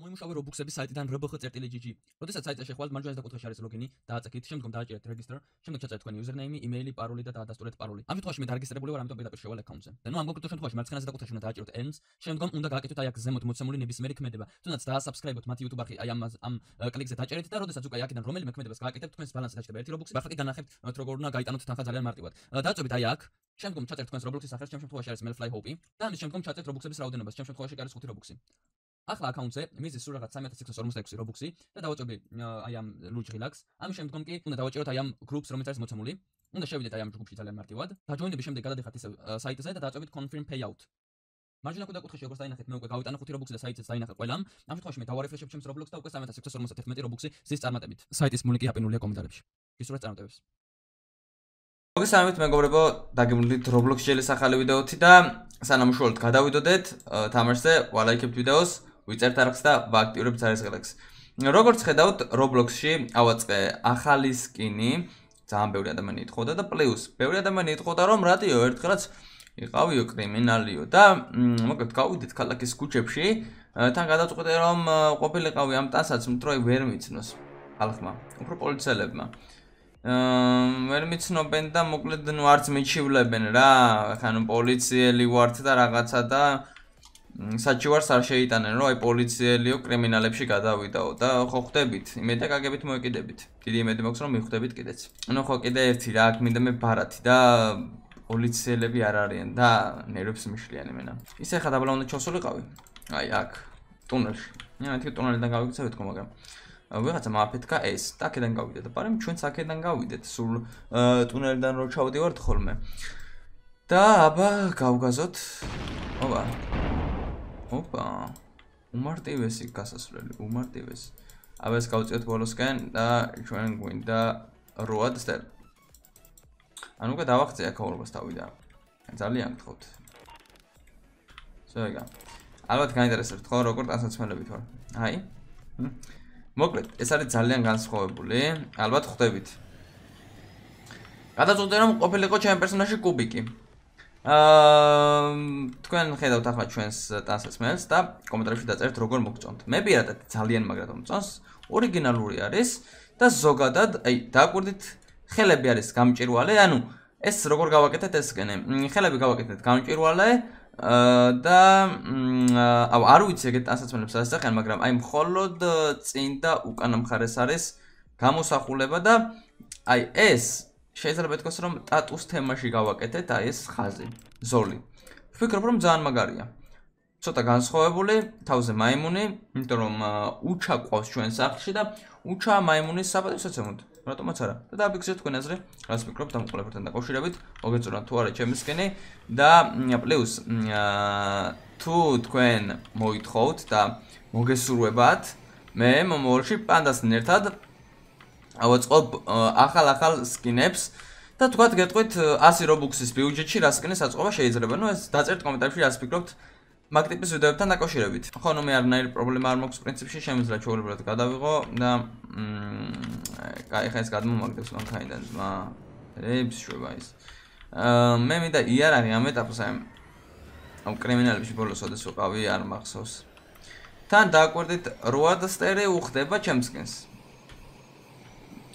მოიმუშავე Roblox-ების საიტიდან rbx.gg. როდესაც საიტზე შეხვალთ, მარჯვენა საკუთხეში არის ლოგინი, დააწექით, შემდგომ დააჭერეთ register, შემდგომ ჩაწერეთ თქვენი username, email, paroli და დაადასტურეთ paroli. ამ შემთხვევაში მე დარეგისტრირებული ვარ, ამიტომ პირდაპირ შევალ account-ზე. და ნუ ამ კონკრეტულ შემთხვევაში მარცხენა საკუთხეში უნდა დააჭეროთ ends, შემდგომ უნდა გააკეთოთ აი აქ ზემოთ მოცემული ნებისმიერი ქმედება. თუნდაც დაასაბსკრაიბოთ მათი YouTube არხი, აი ამ კლიკზე დაჭერეთ და როდესაც უკვე აქედან რომელიმე ქმედებას გააკეთებთ, თქვენს ბალანსზე დაჭერდება 1 Roblox-ი. ახლა კი განახებთ როგორ უნდა გაიტანოთ თანხა ძალიან მარტივად. დააწვევით აი აქ, შემდგომ ჩაწერთ თქვენს Roblox-ის სახელს, ჩემ შემთხვევაში არის Melfly Hope და ამის შემდგომ ჩაწერთ Roblox-ების რაოდენობას, ჩემ შემთხვევაში არის 5 Roblox-ი. ახლა account-ზე მიზის სულ რაღაც 3646 Robux-ი და დავაჭრები აი ამ Luge Relax. ამის შემდგომ კი უნდა დავაჭეროთ აი ამ groups, რომელიც არის მოცემული. უნდა შევიდეთ აი ამ ჯგუფში ძალიან მარტივად. დაჯოინების შემდეგ გადადიხართ ისევ საიტზე და დააწვევით confirm payout. მარჯვენა კუთხეში როგორც დაინახეთ, მე უკვე გავიტანა 5 Robux-ი და საიტზეც დაინახე ყველამ. ამ შემთხვევაში მე დავარეფრეშებ ჩემს Roblox და უკვე 3651 Robux-ი ზის წარმატებით. საიტის ლინკი აპინულია კომენტარებში. გისურვებთ წარმატებებს. მოგესალმებით მეგობრებო, დაგემრუდით Roblox შელის ახალი ვიდეოთი და სანამ უშუალოდ გადავიდოდეთ თამაშზე, ვალაიქებთ ვიდეოს, ვიწერთ არხს და ვააქტიურებთ CS:GO-ს. როგორც ხედავთ, Roblox-ში ავაწყე ახალი სკინი, ძალიან ბევრი ადამიანი ეთხოვდა და პლუს ბევრი ადამიანი ეთხოვდა რომ რადიო ერთხელაც იყავიო კრიმინალიო და მოკლედ გავიდეთ ქალაქის ქუჩებში, თან გადავწყვეტე რომ ყოფილიყავი ამ ტანსაც მთროი ვერ მიცნოს ხალხმა, უფრო პოლიციელებმა. ვერ მიცნობენ და მოკლედ ნუ არც მიჩივლებენ რა, ხან პოლიციელი ვართ და რაღაცა და საჩივარს არ შეიტანენ რომ აი პოლიციელიო კრიმინალებში გადავიდაო და ხო ხვდებით, იმედი გაგებით მოეკიდებით. დიდი იმედი მაქვს რომ მიხვდებით კიდეც. ნუ ხო კიდე ერთი რა, აქ მინდა მე ბარათი და პოლიციელები არ არიან და ნერვებს მიშლიან იმენა. ისე ხა დაბლა უნდა ჩავსულიყავი. აი აქ ტუნელში. მეთქი ტუნელიდან გავიქცევით ხო მაგრამ ვიღაცა მაფეთქა ეს და აქედან გავიდეთ და პარემ ჩვენც აქედან გავიდეთ სულ ტუნელიდან რო ჩავდივართ ხოლმე და აბა გავგაზოთ ოპა უმარტივესი გასასვლელი უმარტივესი აბა ეს გავწიოთ ბოლოსკენ და ჩვენ გვინდა როად სტელ ანუ უკვე დავახცე აქაურობას თავი და ძალიან გთხოვთ ზოგა ალბათ გაინტერესებთ ხო როგორ დასაცმელებით ვარ აი მოკლედ, ეს არის ძალიან განსხვავებული, ალბათ ხვდებით. გადაწყვეტე რომ ყოფილიყო ჩემი პერსონაჟი კუბიკი. თქვენ ხედავთ ახლა ჩვენს ტანსაცმელს და კომენტარებში დაწერთ როგორ მოგწონთ. მე პირადად ძალიან მაგრად მომწონს, ორიგინალური არის და ზოგადად, აი, დააკვირდით, ხელები არის გამჭვირვალე, ანუ ეს როგორ გავაკეთეთ ეს სკენი. ხელები გავაკეთეთ გამჭვირვალე და არ ვიცი ეგეთ ტანსაცმელებს ასახიან, მაგრამ აი მხოლოდ წინ და უკანა მხარეს არის გამოსახულება და აი ეს შეიძლება ითქვას რომ ტატუს თემაში გავაკეთეთ, აი ეს ხაზი, ზოლი. ვფიქრობ რომ ძალიან მაგარია. ცოტა განსხვავებული, თავზე მაიმუნი, იმიტომ რომ უჩა ყავს ჩვენ სახლში და უჩა მაიმუნის საპატივსაცემოდ. რატომაც არა. და დააფიქსირეთ თქვენ აზრი, რას ვფიქრობთ ამ ყველაფერთან დაკავშირებით, მოგეწონათ თუ არა ჩემი სკენი და პლუს თუ თქვენ მოითხოვთ და მოგესურვებათ, მე მომავალში პანდასთან ერთად ავაწყობ ახალ სკინებს და თქვათ გეტყვით 100 Robux-ის ბიუჯეტში რა სკინის აწყობა შეიძლება. ნუ ეს დაწერთ კომენტარებში რას ფიქრობთ მაგ ტიპის ვიდეოებთან დაკავშირებით. ხო, ნუ მე არანაირი პრობლემა არ მაქვს პრინციპში, შემიძლია ჩვეულებრივად გადავიღო და კაი, ხა ეს გადმომაგდებს მანქანიდან ძმა. ებს შვება ის. მე მინდა იარაღი ამ ეტაპზე ამ კრიმინალებში ბოლოს ოდეს ვიყავი არ მახსოვს. თან დააკვირდით როადსტერი უხდება ჩემს სკინს.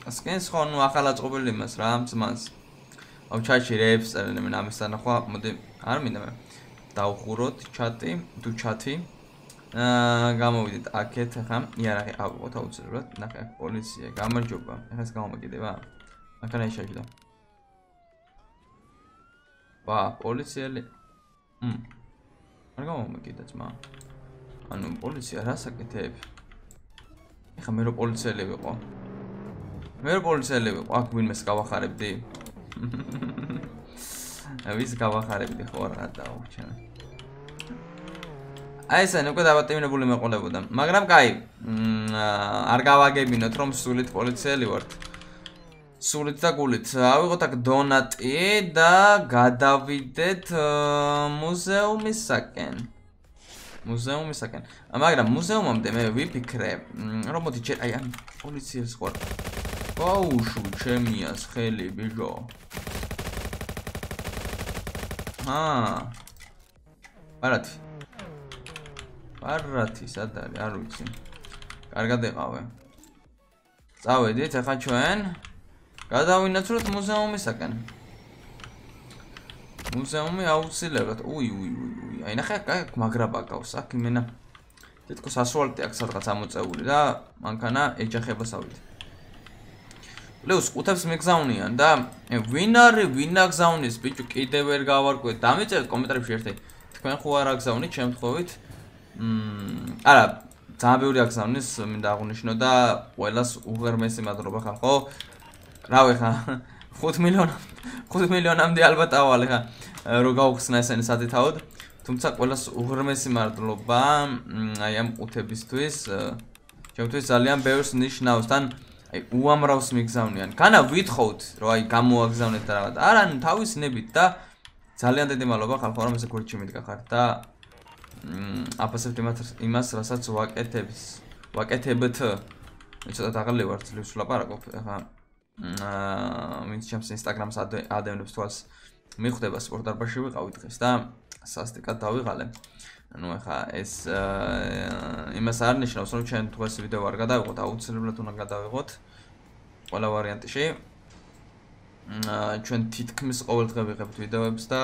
სკინს ხო, ნუ ახალ აწყობილი იმას რა, ძმას. აუ ჩატში რეებს წერენ მე ამისთან ახლა, მოდი არ მინდა მე. დავხუროთ ჩატი, თუ ჩატი. გამოვიდეთ აქეთ ახლა იარაღი ავიღოთ აუცილებლად. ნახე აქ პოლიცია, გამარჯობა. ახლა ეს გამომაკიდება. აქა შეჭდა. ვა, პოლიციელი. არ გამომაკიდა ძმა. ანუ პოლიცია რას აკეთებ? ახლა მე რო პოლიციელი ვიყო. მე რო პოლიციელი ვიყო, აქ ვინმეს გავახარებდი. ვის გავახარებდი ხო რა დაუჩენ. აი ეს უკვე დაბატიმინებული მეყოლებოდა, მაგრამ კაი, არ გავაგებინოთ რომ სულით პოლიციელი ვართ. სულით და გულით. ავიღოთ აქ დონატი და გადავიდეთ მუზეუმისაკენ. მუზეუმისაკენ. მაგრამ მუზეუმამდე მე ვიფიქრე, რომ მოდი ჯერ აი ამ პოლიციას ხوار. ბაუშუ ჩემიას ხელი ბიჟო. ბარათი. პარათი სად არის? არ ვიცი. კარგად ეყავე. წავედით, ახლა ჩვენ გადავინაცვლოთ მუზეუმისაკენ. მუზეუმი აუცილებლად. უი. აი ნახე, აქ მაგრაბა გავს, აქ იმენა თითქოს ასვალტი აქ სადღაც ამოწეული და მანქანა ეჯახებასავით. პლუს ყუთებს მიგზავნიან და ვინ აგზავნის ბიჭო კიდევ ვერ გავარკვევთ. დამიწერეთ კომენტარებში ერთი. თქვენ ხო არ აგზავნით შემთხვევით? არა, ძალიან ბევრი აგზავნის, მინდა აღვნიშნო და ყველას უღერმესი მადლობა ხალხო. რავი ხა 5 მილიონამდე ალბათ ავალე ხა რო გავხსნა ესენი სათითაოდ. თუმცა ყველას უღრმესი მადლობა აი ამ ყუთებისთვის. ჩემთვის ძალიან ბევრს ნიშნავს. თან აი უამრავს მიგზავნიან. განა ვითხოვთ რომ აი გამოაგზავნეთ და რაღაც. არა, ნუ თავის ნებით და ძალიან დიდი მადლობა ხალხო რომ ესე გვერდში მიდგახართ და აფასებთ იმას, რასაც ვაკეთებთ. ცოტა დაღალი ვარ, ძლივს ვლაპარაკობ. ახლა ვინც ჩემს ინსტაგრამს ადევნებს თვალს მიხვდება სპორტ დარბაზში ვიყავი დღეს და სასტიკად დავიღალე. ანუ ახლა ეს იმას არ ნიშნავს რომ ჩვენ დღეს ვიდეო არ გადავიღოთ, აუცილებლად უნდა გადავიღოთ ყველა ვარიანტში. ჩვენ თითქმის ყოველ დღე ვიღებთ ვიდეოებს და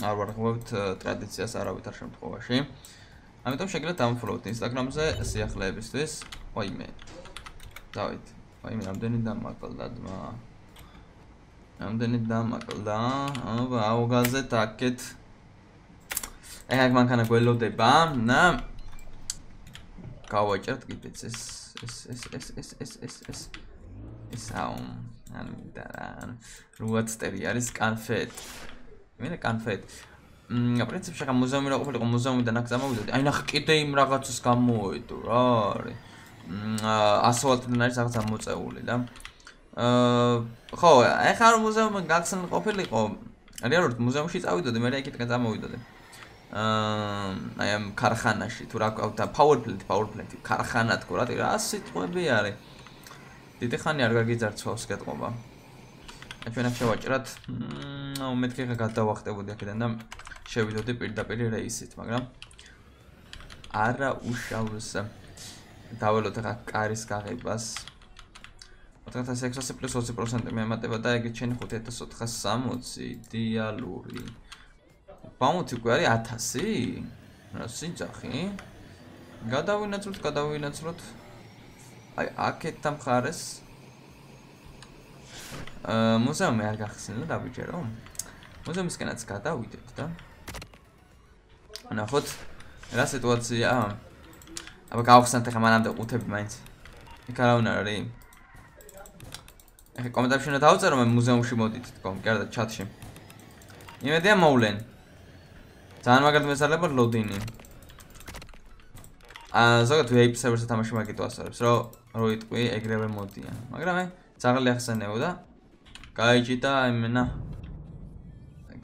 არ ვარღვევთ ტრადიციას არავითარ შემთხვევაში. ამიტომ შეგიძლიათ დამფოლოვოთ ინსტაგრამზე სიახლეებისთვის. ოიმე. დავით. ოიმე, რამდენი დამაკლდა ძმა. რამდენი დამაკლდა. აუგაზეთ აქეთ. ეგ მანქანა გველოდება და გავაჭერთ კიდეც ეს ანუ და რუაცტერი არის კანფეტ. მე კანფეტ. პრინციპში ხა მუზეუმი რა ყოფილიყო მუზეუმიდან აქ წამოვიდოდი. აი ნახე კიდე იმ რაღაცას გამოვიდო რა არის. ასფალტიდან არის რაღაც ამოწეული და ხო, ახლა რომ მუზეუმი გახსნილ ყოფილიყო, რეალურად მუზეუმში წავიდოდი, მე იქიდან წამოვიდოდი. აი ამ ქარხანაში თუ რა ყავდა power plant ქარხანა თქო რა სიტყვები არის. დიდი ხანი არ გაგიძარცვავს გეტყობა. ჩვენ აქ შევაჭრათ, მეთქე ხა გადავახტებოდი აქედან და შევიდოდი პირდაპირ რეისით, მაგრამ არა უშავს. დაველოთ ახლა კარის გაღებას. 4600 პლუს 20% მეემატება და ეგ ჩენი 5460 დიალური. ბაუნტი გვარი 1000? რა სიძახი? გადავინაცვლოთ. აი აქეთ დამხარეს. მუზეუმი არ გახსნილა დავიჯერო. მუზეუმისკენაც გადავიდეთ და ნახოთ რა სიტუაცია. აბა გავხსნათ ახლა მანამდე ყუთები მაინც. იქ არავინ არ არის. ახლა კომენტარებში უნდა დავწერო მე მუზეუმში მოდით თქო, გარდა ჩატში. იმედია მოვლენ. ძალიან მაგარად მესწრება ლოდინი. ზოგადად VIP server-ზე თამაში მაგით ვასწავლებს, რომ იტყვი ეგრევე მოდიან. მაგრამ მე ძაღლი ახსენებო და გაიჭიდა იმენა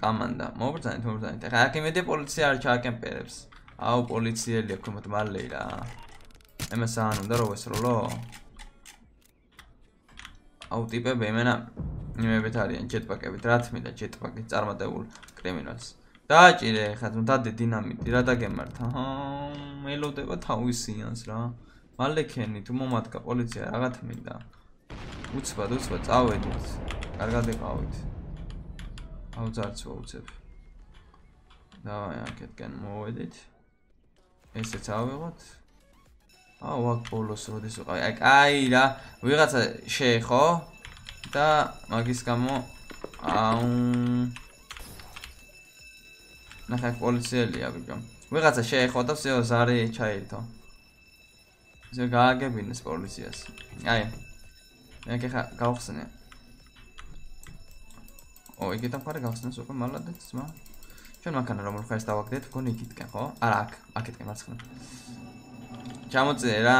კომანდა. მობრძანეთ. ახლა აქ იმედია პოლიცია არ ჩააკემპერებს. აუ პოლიციელი აქ უმეთ მალე რა. ემას არ უნდა რომ ვესროლო. აუ ტიპები იმენა იმებით არიან ჯეტპაკებით, რა თმიდა ჯეტპაკით წარმატებულ კრიმინალს. დააჭირე ხა დადი დინამიტი რა დაგემართ. მელოდება თავისიანს რა. მალე ქენი თუ მომადგა პოლიცია რა თმიდა. უცბად წავედით. კარგად იყავით. აუ ძარცვა უცებ. დავაი აქეთკენ მოვედით. ესეც ავიღოთ. აუ აქ ბოლოს როდის ვიყავი. აი რა, ვიღაცა შეეხო და მაგის გამო აუ ნახე პოლიციელია ბიჭო. ვიღაცა შეეხო და всё ზარი ჩაირთო. ისე გააგებინეს პოლიციას. აი. მე ხა გავხსნე. იგი დამხარე გავხსნეს უკვე მალადეთ ძმა. ჩვენ მანქანა რომ ხარს დავაგდეთ, გონი იქითკენ ხო? არა აქ, აქეთკენ მარცხნივ. ჩამოწე რა.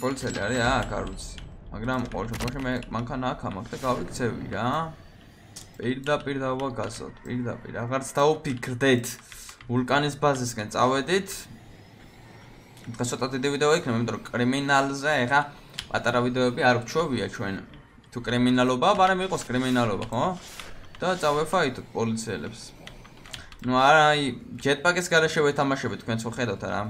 პოლიციელი არის აქ არ ვიცი. მაგრამ ყოველ შემთხვევაში მე მანქანა აქ ამაქვს და გავიქცევი რა. პირდაპირ დავაგასოთ, პირდაპირ. აღარც დავფიქრდეთ. ვულკანის ბაზისკენ წავედით. დღეს ცოტა დიდი ვიდეო იქნება, იმიტომ რომ კრიმინალზე ეხა პატარა ვიდეოები არ გვჩვევია ჩვენ. თუ კრიმინალობა, მაგრამ იყოს კრიმინალობა, ხო? და წავეფაითოთ პოლიციელებს. ნუ არა, აი jetpack-ის გარეშე ვეთამაშები თქვენც ხო ხედავთ რა.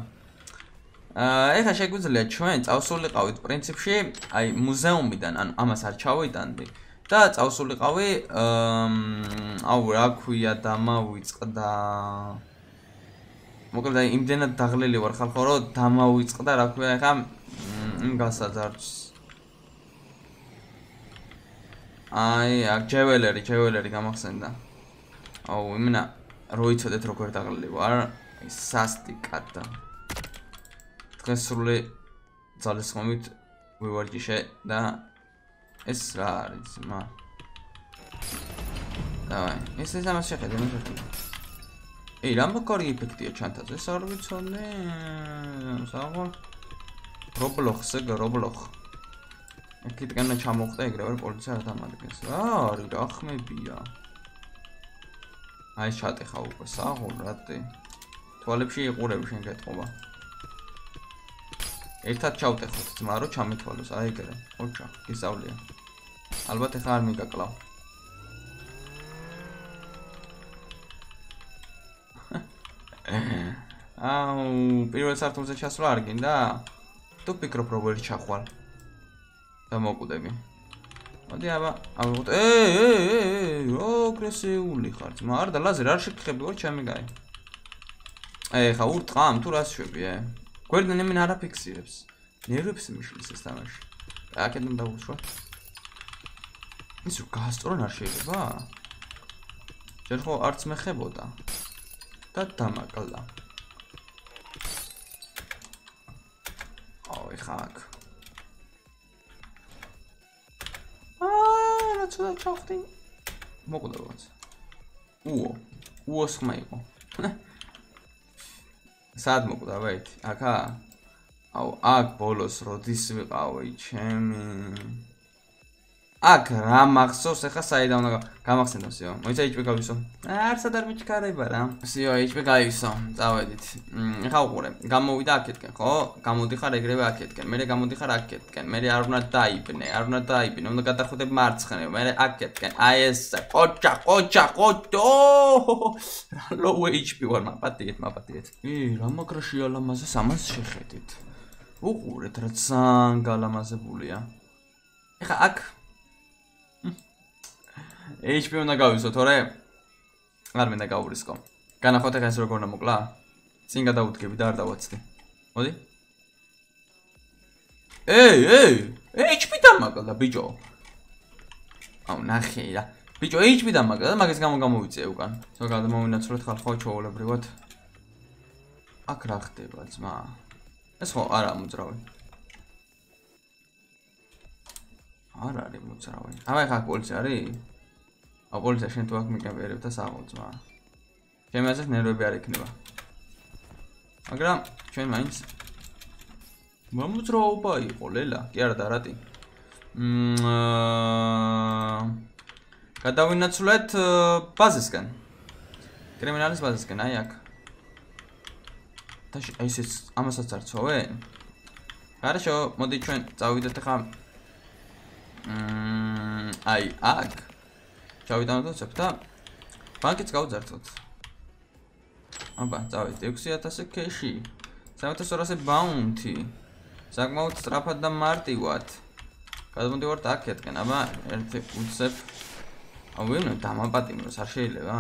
ეხლა შეგვიძლია ჩვენ წავსულიყავით პრინციპში, აი მუზეუმიდან, ანუ ამას არ ჩავიტანდი და წავსულიყავი აუ რა ქვია დამავიწყდა. მოკლედ აი იმდენად დაღლილი ვარ ხალხო, რომ დამავიწყდა რა ქვია ეხლა იმ გასაძარცს. აი აქ ჯეველერი გამახსენდა. აუ იმენა რო იცოდეთ როგორ დაღლილი ვარ, სასტიკად. თქვენ სრული ძალისხმევით ვივარჯიშე და ეს რა არის მა. დავაი, ეს ამას შეხედე მე შევხედე. ეი, რა მოკორი ეფექტია ჩანთაზე, ეს არ ვიცოდი. საღო. Roblox. აკეთგან ჩამოხდა ეგრევე პოლიცია რა დამადგეს. რა არის რა ხმებია. აი ჩატეხა უკვე საღო რატე. თვალებში იყურები შენ გეტყობა. ერთად ჩავტეხოთ ძმა რო ჩამეთვალოს აი ეგრე. ოჩა, გისავლია. ალბათ ეხა არ მიგაკლავ. აუ, პირველ სართულზე ჩასვლა არ გინდა? თუ ფიქრობ როგორი ჩახვალ და მოკვდები. მოდი აბა, ავიღოთ. რა აგრესიული ხარ ძმა? არ და ლაზერ არ შეგხები ვარ ჩემი გაი. ეხა ურტყამ თუ რას შვები გვერდიდან იმენ არ აფიქსირებს. ნერვებს მიშლის ეს თამაში. აკეთებ დაუშვა. ის რო გასწორონ არ შეიძლება? ჯერ ხო არც მეხებოდა. და დამაკლა. აუ ეხა აქ. რა ცოტა ჩახდი. მოკვდავაც. უოს ხმა იყო. სად მოკვდავით? აქა? აუ აქ ბოლოს როდის ვიყავი ჩემი. აქ რა მახსოვს ეხა საიდან უნდა გამახსენდოსიო. მოიცა HP გავისო. არცად არ მიჩქარება რა. სიო HP გავისო. წავედით. ეხა უყურე. გამოვიდა აქეთკენ, ხო? გამოდიხარ ეგრევე აქეთკენ. მე გამოდიხარ აქეთკენ. მე არ უნდა დაიბნე. უნდა გადახუდებ მარცხნივ. მე აქეთკენ. აი ეს ყოჭა. რა low HP ვარ მაპატიეთ. რა მაგრაშია ლამაზეს ამას შეხედით. უყურეთ რა ძალიან გალამაზებულია. ეხა აქ HP უნდა გავისო, თორე არ მინდა გაურისკო. განახოთ ეხა ეს როგორ უნდა მოკლა? წინ გადავუდგები და არ დავაცდი. მოდი. HP დამაკლა ბიჭო. აუ ნახე რა. ბიჭო HP დამაკლა და მაგის გამო გამოვიწე უკან. ზოგადად მოვინაცვლოთ ხალხო ჩაოლებრივად. აქ რა ხდება ძმა? ეს ხო არა მოძრავი. არ არის მოძრავი. აბა ხა პოლიცია არის? აუ პოლიცია შენ თუ აქ მიკამერებ და საღოლ ძმა. ჩემი აზრით ნერვები არ იქნება. მაგრამ ჩვენ მაინც მომძრაობა იყო ლელა, კი არა და რატი? გადავინაცვლეთ ბაზისკენ. კრიმინალის ბაზისკენ, აი აქ. და აი ეს ამასაც არ ცოვე? хорошо, მოდი ჩვენ წავიდეთ ახლა აი აქ. ჩავიტანოთ და ბანკიც გავძართოთ. აბა, წავიდეთ 6000 კეში. 3200 ბაუნთი. საკმაოდ სწრაფად და მარტივად. გადმოდივართ აქეთკენ, აბა, ერთი უცებ. აუ, ვინმე დამაპატიმროს არ შეიძლება?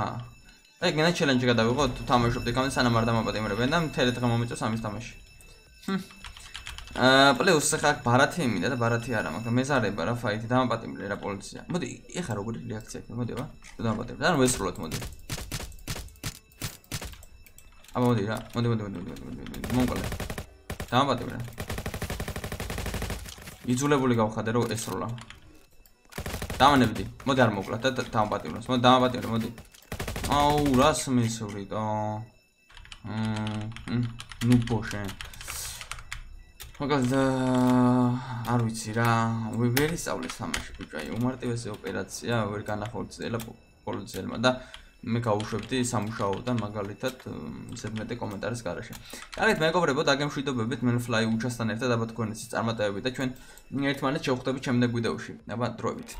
აი, გენა ჩელენჯი გადავიღოთ, თუ თამაშობთ ეკამდე სანამ არ დამაპატიმრებენ და მთელი დღე მომიწევს ამის თამაში. პლუს ახლა ბარათი მინდა და ბარათი არა, მაგრამ მეზარება რა ფაითი დამაპატიმრე რა პოლიცია. მოდი, ეხა როგორი რეაქცია იქნება? მოდი აბა, თუ დამაპატიმრე. ანუ ვესრულოთ მოდი. აბა მოდი რა, მოდი. მომყოლე. დამაპატიმრე. იძულებული გავხადე რომ ესრულა. დამანებდი. მოდი არ მოკლა და დამაპატიმროს. მოდი დამაპატიმრე, მოდი. აუ, რას მისვრით? ნუ ბოშე. მაგალითად არ ვიცი რა, ვერ ისწავლეს თამაში ბიჭო, აი უმარტივესი ოპერაცია ვერ განახორციელა პოლიციელმა და მე გავუშვებდი სამუშაოდან მაგალითად ზედმეტი კომენტარის გარეშე. კარგით, მეგობრებო, დაგემშვიდობებით მენფლაი უჩასთან ერთად აბა თქვენიცის წარმატებები და ჩვენ ერთმანეთს შევხვდებით შემდეგ ვიდეოში. აბა დროებით.